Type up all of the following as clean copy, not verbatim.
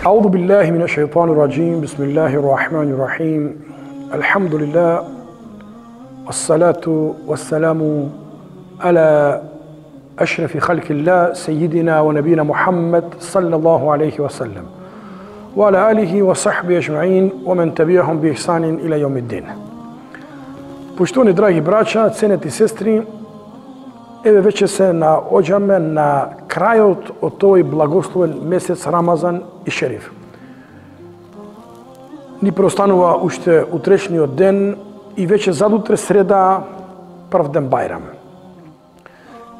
أعوذ بالله من الشيطان الرجيم بسم الله الرحمن الرحيم الحمد لله والصلاة والسلام على أشرف خلق الله سيدنا ونبينا محمد صلى الله عليه وسلم وعلى آله وصحبه أجمعين ومن تبعهم بإحسان إلى يوم الدين. Poštovani dragi braća, ceneti sestri, еве веќе се наоѓаме на крајот од тој благословен месец Рамазан и Шериф. Ни преостанува уште утрешниот ден и веќе задутре среда прв ден Бајрам.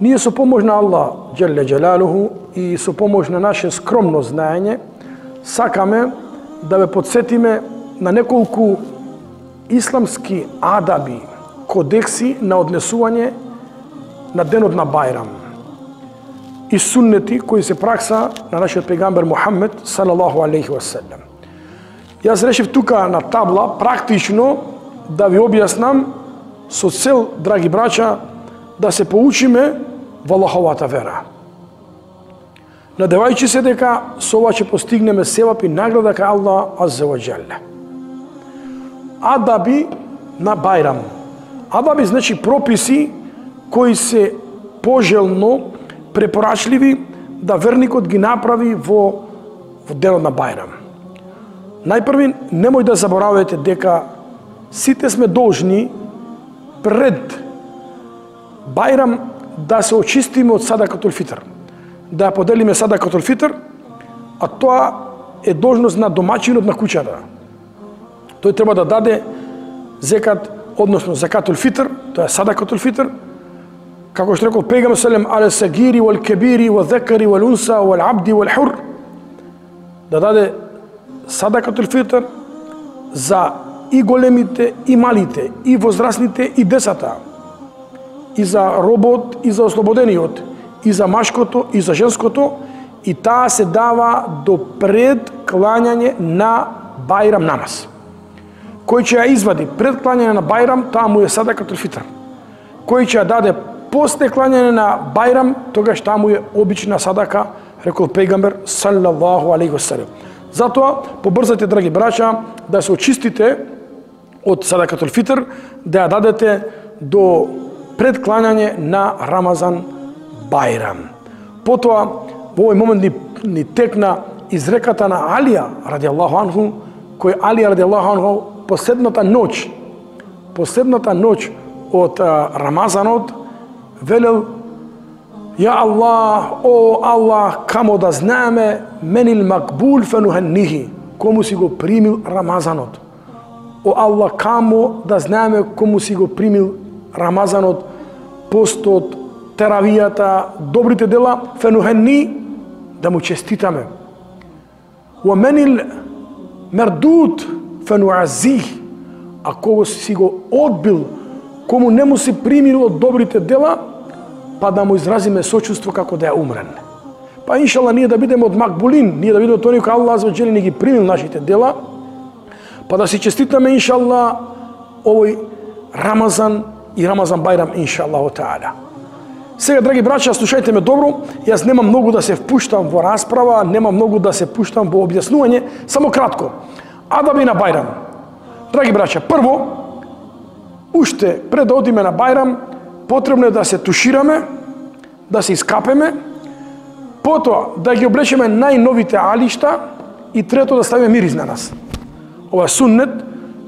Ние со помош на Аллах Джелле Джелалуху и со помош на наше скромно знаење сакаме да ве подсетиме на неколку исламски адаби, кодекси на однесување на денот на Бајрам и суннети кои се пракса на нашиот пегамбер Мухаммед салаллаху алейхи ва селем. Јас решив тука на табла практично да ви објаснам со цел, драги браќа, да се поучиме во Аллаховата вера. Надевајќи се дека со ова ќе постигнеме севап и награда кај Аллах азза ва џелле. Адаби на Бајрам. Адаби значи прописи кои се пожелно препорачливи да верникот ги направи во денот на Бајрам. Најпрви, немој да заборавате дека сите сме должни пред Бајрам да се очистиме од садакатул фитр, да поделиме садакатул фитр, а тоа е должност на домаќинот на куќата. Тој треба да даде зекат, односно закатул фитр, тоа е садакатул фитр, како што рекол пегамбер селем але сагири вал кебири вал зекари вал унса вал абди вал хур, да даде садакатул фитр за и големите и малите, и возрастните и децата, и за робот и за ослободениот, и за машкото и за женското, и таа се дава до пред клањање на Бајрам намаз. Кој ќе ја извади пред клањање на Бајрам, таа му е садакатул фитр. Кој ќе ја даде после клањање на Бајрам, тогаш таа му е обична садака, рекол пегамбер саллаллаху алейхи ва селем. Затоа побрзате, драги браќа, да се очистите од садакатул фитр, да ја дадете до пред клањање на Рамазан Бајрам. Потоа во овој момент ни текна изреката на Алија радијаллаху анху, кој Алија радијаллаху анху последната ноќ од Рамазанот велел: Ја Аллах, о Аллах, камо да знаеме менил макбул фенухеннихи, кому си го примил Рамазанот. О Аллах, камо да знаеме кому си го примил Рамазанот, постот, теравијата, добрите дела, фенухенни, да му честитаме. О менил мердут фенуазих, а кого си го одбил, кому не му си примил од добрите дела, па да му изразиме сочувство како да е умрен. Па иншалла ние да бидеме од макбулин, ние да бидеме тони кој Аллах азза ва џеле ни ги примил нашите дела, па да си честитаме иншалла овој Рамазан и Рамазан Бајрам иншаллаху таала. Сега, драги браќа, слушајте ме добро, јас немам многу да се впуштам во расправа, немам многу да се пуштам во објаснување, само кратко. Адаби на Бајрам. Драги браќа, прво, уште пред да одиме на Бајрам, потребно е да се тушираме, да се искапеме, потоа да ги облечеме најновите алишта и трето да ставиме мирис на нас. Ова е суннет,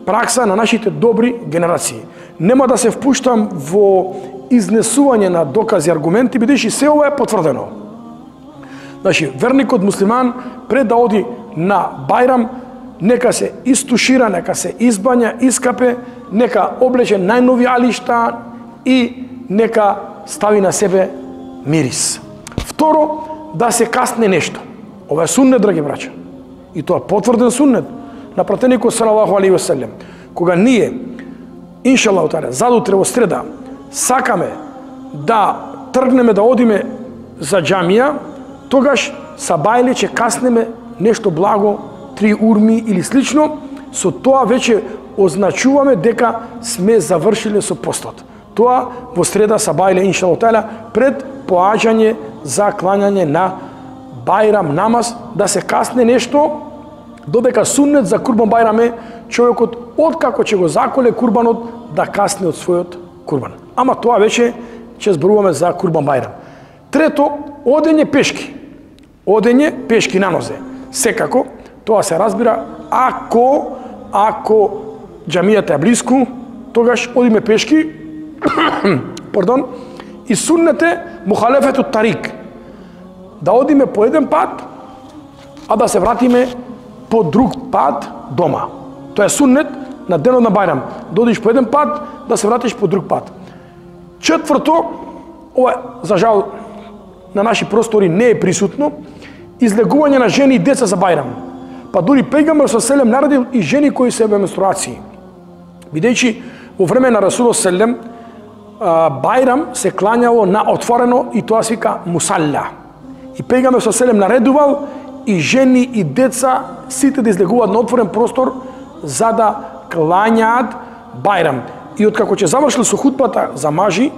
пракса на нашите добри генерации. Нема да се впуштам во изнесување на докази и аргументи, бидејќи се ова е потврдено. Значи, верникот муслиман пред да оди на Бајрам, нека се истушира, нека се избања, искапе, нека облече најнови алишта и нека стави на себе мирис. Второ, да се касне нешто. Ова е суннет, драги браќа. И тоа потврден суннет на пратеникот салаллаху алейхи ва селем. Кога ние, иншаллаху таала, задутре во среда, сакаме да тргнеме да одиме за џамија, тогаш сабајле ќе каснеме нешто благо, 3 урми или слично, со тоа веќе означуваме дека сме завршиле со постот. Тоа во среда сабајле иншаллаху таала пред поаѓање за клањање на Бајрам намаз, да се касне нешто Додека суннет за Курбан Бајрам е човекот откако ќе го заколе курбанот да касне од својот курбан. Ама тоа веќе ќе зборуваме за Курбан Бајрам. Трето, одење пешки. Одење пешки на нозе. Секако, тоа се разбира ако џамијата е блиску, тогаш одиме пешки. Пардон. И суннет е мухалефету тарик. Да одиме по еден пат, а да се вратиме по друг пат дома. Тоа е суннет на денот на Бајрам. Да одиш по еден пат, да се вратиш по друг пат. Четврто, ова за жал на наши простори не е присутно, излегување на жени и деца за Бајрам. Па дури пејгамбер селем наредил и жени кои се во менструации. Бидејќи во време на Расулот селем Бајрам се клањало на отворено и тоа се вика мусалла. И пејгамбер селем наредувал и жени и деца сите да излегуваат на отворен простор за да клањаат Бајрам. И откако ќе завршил со хутбата за мажи,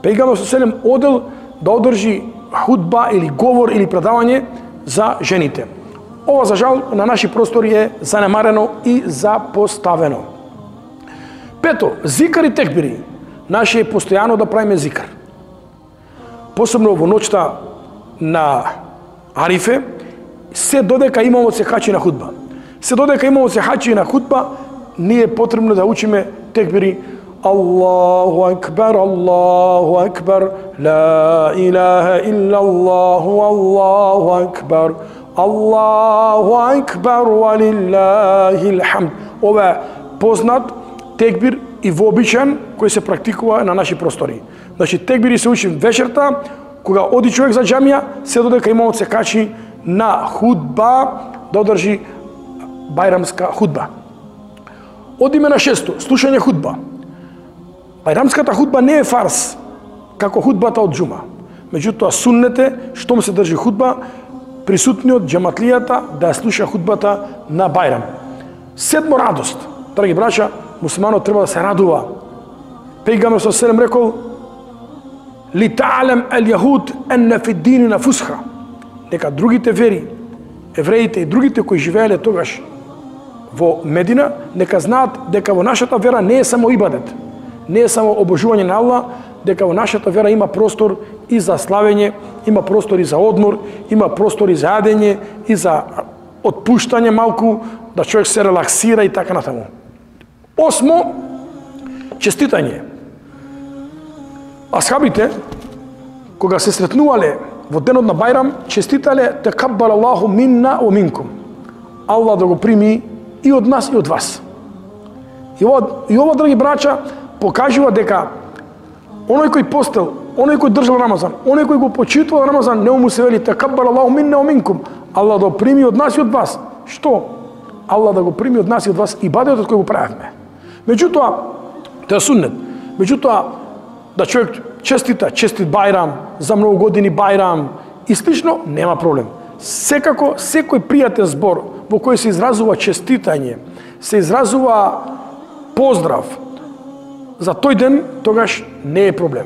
пејгамбер селем одел да одржи хутба или говор или предавање за жените. Ова за жал на наши простори е занемарено и запоставено. Пето, зикар и текбири. Наше е постојано да правиме зикар. Посебно во ноќта на Арифе, се додека имамот се хачи на хутба. Се додека имамот се хачи на хутба, ние е потребно да учиме текбири. Аллаху акбар, Аллаху акбар, ла илаха илла Аллаху, Аллаху акбар, Аллаху акбар, валиллахил хамд. Ова е познат текбир и вообичен кој се практикува на наши простори. Значи текбири се учи вечерта, кога оди човек за џамија, се додека имамот се качи на худба, да одржи бајрамска худба. Одиме на шесто, слушање худба. Бајрамската худба не е фарс, како худбата од џума. Меѓутоа суннет е, штом се држи худба, присутниот џематлијата да ја слуша худбата на Бајрам. Седмо, радост. Драги браќа, муслиманот треба да се радува. Пејгамбер со селем рекол: "Ли та'лам ал-јахуд анна фи динина фусха." Дека другите вери, евреите и другите кои живееле тогаш во Медина, нека знаат дека во нашата вера не е само ибадет, не е само обожување на Аллах, дека во нашата вера има простор и за славење, има простор и за одмор, има простор и за јадење, и за отпуштање малку, да човек се релаксира и така натаму. Осмо, честитање. Асхабите, кога се сретнувале во денот на Бајрам, честитале "Такаббал Аллаху минна ва минкум." Аллах да го прими и од нас и од вас. И ова, драги браќа, покажува дека оној кој постел, оној кој држал Рамазан, оној кој го почитувал Рамазан, не му се вели "Такаббал Аллаху минна ва минкум." Аллах да го прими од нас и од вас. Што? Аллах да го прими од нас и од вас ибадетот кој го правевме. Меѓутоа, тоа е суннет. Меѓутоа, да човек честит Бајрам, за многу години Бајрам и слично, нема проблем. Секако, секој пријатен збор во кој се изразува честитање, се изразува поздрав за тој ден, тогаш не е проблем.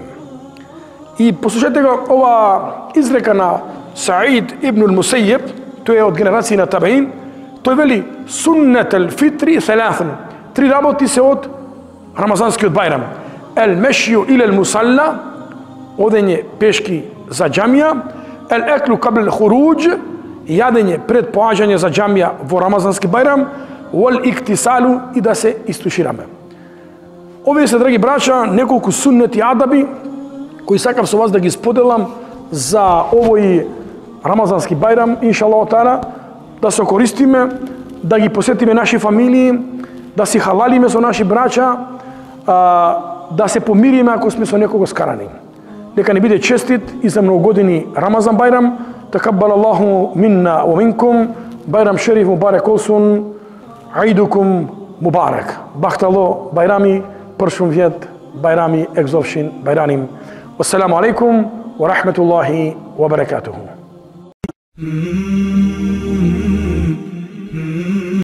И послушайте го ова изрека на Саид ибн ал-Мусајиб, тој е од генерација на табеин, тој вели: "Суннетел фитри селафен." Три работи се од Рамазанскиот Бајрам. "Ел-мешју илел мусалла", одење пешки за џамија; "Ел-еклу кабл хуруџ", јадење пред поаѓање за џамија во Рамазански Бајрам; "Вал-иктисалу", и да се истушираме. Овие се, драги браќа, неколку суннети адаби кои сакам со вас да ги споделам за овој Рамазански Бајрам, иншаллах таала, да се користиме, да ги посетиме наши фамилии, да си халалиме со наши браќа, да се помириме ако сме со некого скарани. Нека не биде честит и за многу години Рамазан Бајрам. Такаббал Аллаху минна ва минкум. Бајрам шериф мубарек олсун. Аидукум мубарек. Бахтало Бајрами, пршум вјет Бајрами екзовшин Бајраним. Вассаламу алейкум ва рахметуллахи ва баракатуху.